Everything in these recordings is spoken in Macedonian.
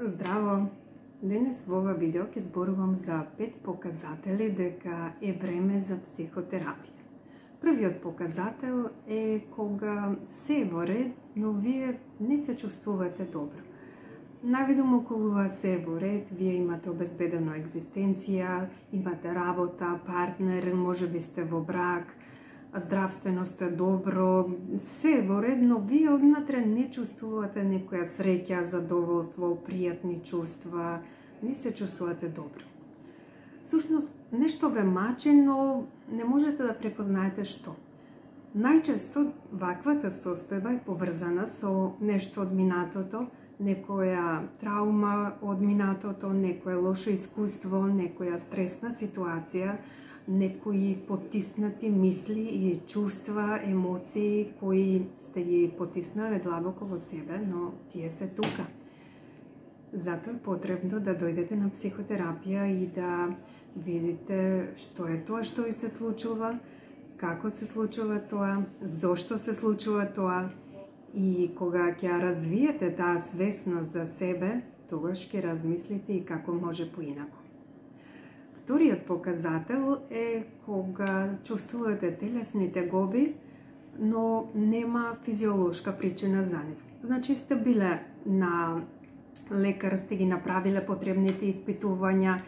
Здраво! Денес во ова видео ќе зборувам за 5 показатели дека е време за психотерапија. Првиот показател е кога се е во ред, но вие не се чувствувате добро. Навидум околу вас се е во ред, вие имате обезбедено екзистенција, имате работа, партнер, можеби сте во брак, здравствено сте добро, се е во ред, но вие однатре не чувствувате некоја среќа, задоволство, пријатни чувства, не се чувствувате добро. Сушност, нешто ве мачи, но не можете да препознаете што. Најчесто ваквата состојба е поврзана со нешто од минатото, некоја траума од минатото, некое лошо искуство, некоја стресна ситуација, некои потиснати мисли и чувства, емоции кои сте ги потиснале длабоко во себе, но тие се тука. Затоа е потребно да дојдете на психотерапија и да видите што е тоа што ви се случува, како се случува тоа, зошто се случува тоа, и кога ќе развиете таа свесност за себе, тогаш ќе размислите и како може поинаку. Вториот показател е кога чувствувате телесни тегоби, но нема физиолошка причина за нив. Значи сте биле на лекар, сте ги направиле потребните испитувања,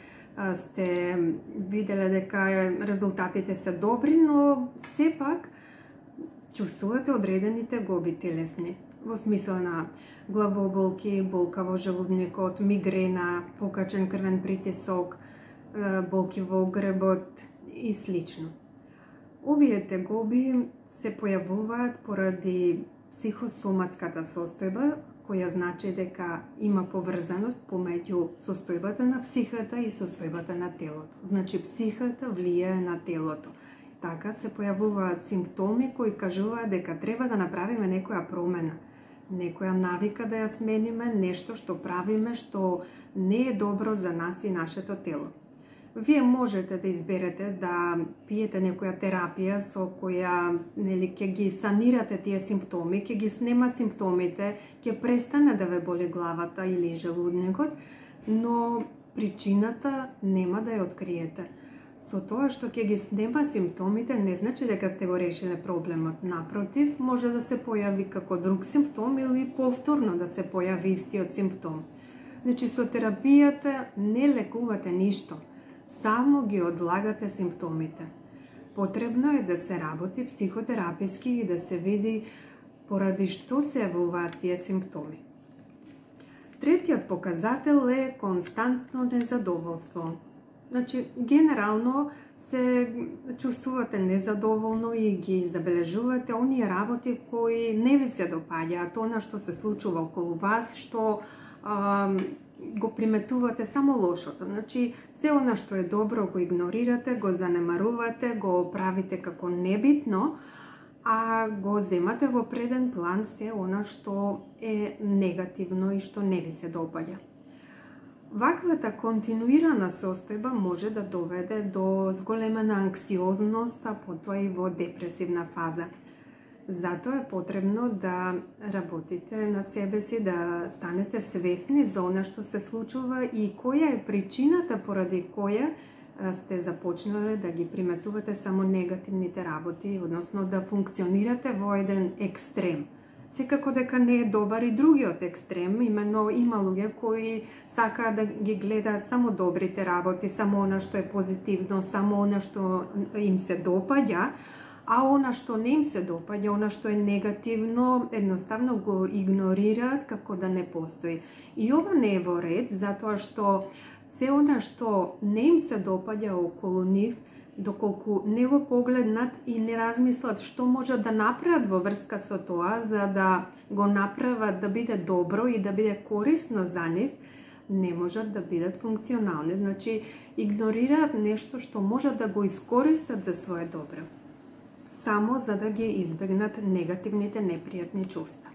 сте виделе дека резултатите се добри, но сепак чувствувате одредени тегоби телесни, во смисла на главоболки, болка во желудникот, мигрена, покачен крвен притисок, болки во гребот и слично. Овие тегоби се појавуваат поради психосоматската состојба, која значи дека има поврзаност помеѓу состојбата на психата и состојбата на телото. Значи психата влијае на телото. Така се појавуваат симптоми кои кажуваат дека треба да направиме некоја промена, некоја навика да ја смениме, нешто што правиме што не е добро за нас и нашето тело. Вие можете да изберете да пиете некоја терапија со која ќе ги санирате тие симптоми, ќе ги снема симптомите, ќе престане да ве боли главата или желудникот, но причината нема да ја откриете. Со тоа што ќе ги снема симптомите не значи дека сте го решиле проблемот. Напротив, може да се појави како друг симптом или повторно да се појави истиот симптом. Значи со терапијата не лекувате ништо, само ги одлагате симптомите. Потребно е да се работи психотераписки и да се види поради што се јавуваат тие симптоми. Третиот показател е константно незадоволство. Значи, генерално се чувствувате незадоволно и ги забележувате оние работи кои не ви се допаѓаат, она што се случува околу вас, што го приметувате само лошото. Значи, се она што е добро го игнорирате, го занемарувате, го правите како небитно, а го земате во преден план се она што е негативно и што не ви се допаѓа. Ваквата континуирана состојба може да доведе до зголемена анксиозност, а потоа и во депресивна фаза. Затоа е потребно да работите на себе си, да станете свесни за она што се случува и која е причината поради која сте започнале да ги приметувате само негативните работи, односно да функционирате во еден екстрем. Секако дека не е добар и другиот екстрем, именно има луѓе кои сакаат да ги гледаат само добрите работи, само она што е позитивно, само она што им се допаѓа, а она што не им се допаѓа, она што е негативно, едноставно го игнорираат како да не постои. И ова не е во ред, затоа што се она што не им се допаѓа околу нив, доколку не го погледнат и не размислат што можат да направат во врска со тоа, за да го направат да биде добро и да биде корисно за нив, не можат да бидат функционални. Значи, игнорираат нешто што можат да го искористат за свое добро, само за да ги избегнат негативните, непријатни чувства.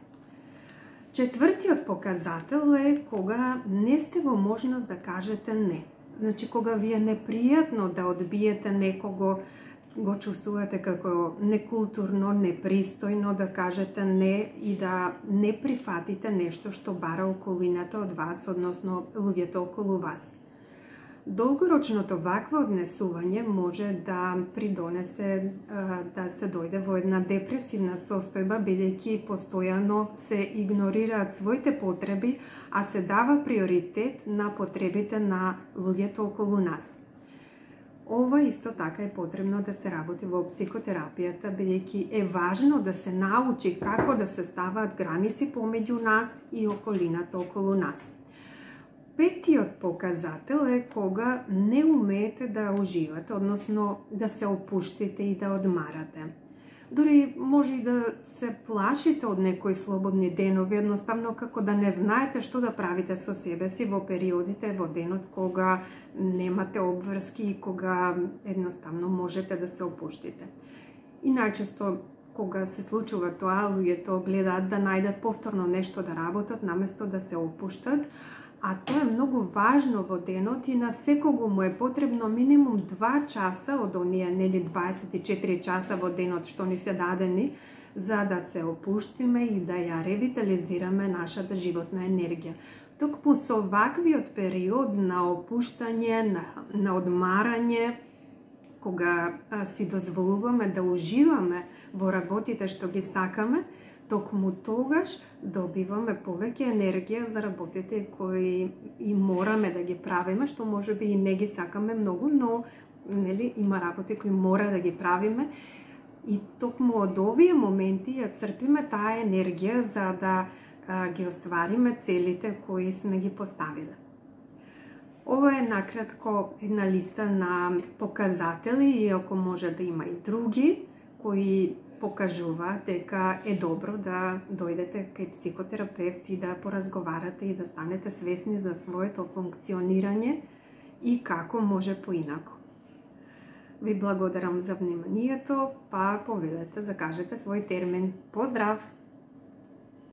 Четвртиот показател е кога не сте во можност да кажете не. Значи, кога ви е непријатно да одбиете некого, го чувствувате како некултурно, непристојно да кажете не и да не прифатите нешто што бара околината од вас, односно луѓето околу вас. Долгорочното вакво однесување може да придонесе да се дојде во една депресивна состојба, бидејќи постојано се игнорираат своите потреби, а се дава приоритет на потребите на луѓето околу нас. Ова исто така е потребно да се работи во психотерапијата, бидејќи е важно да се научи како да се ставаат граници помеѓу нас и околината околу нас. Петиот показател е кога не умеете да уживате, односно да се опуштите и да одмарате. Дори може и да се плашите од некои слободни денови, едноставно како да не знаете што да правите со себе си во периодите во денот кога немате обврски и кога едноставно можете да се опуштите. И најчесто кога се случува тоа, луѓето гледаат да најдат повторно нешто да работат наместо да се опуштат, а тоа е многу важно во денот и на секого му е потребно минимум 2 часа од оние 24 часа во денот што ни се дадени, за да се опуштиме и да ја ревитализираме нашата животна енергија. Токму со ваквиот период на опуштање, на одмарање, кога си дозволуваме да уживаме во работите што ги сакаме, токму тогаш добиваме повеќе енергија за работите кои и мораме да ги правиме, што можеби и не ги сакаме многу, но има работи кои мора да ги правиме. И токму од овие моменти ја црпиме таа енергија за да ги оствариме целите кои сме ги поставиле. Ова е накратко една листа на показатели, иако може да има и други кои покажува дека е добро да дојдете кај психотерапевт и да поразговарате и да станете свесни за своето функционирање и како може поинако. Ви благодарам за вниманието, па повелете, закажете свој термин. Поздрав!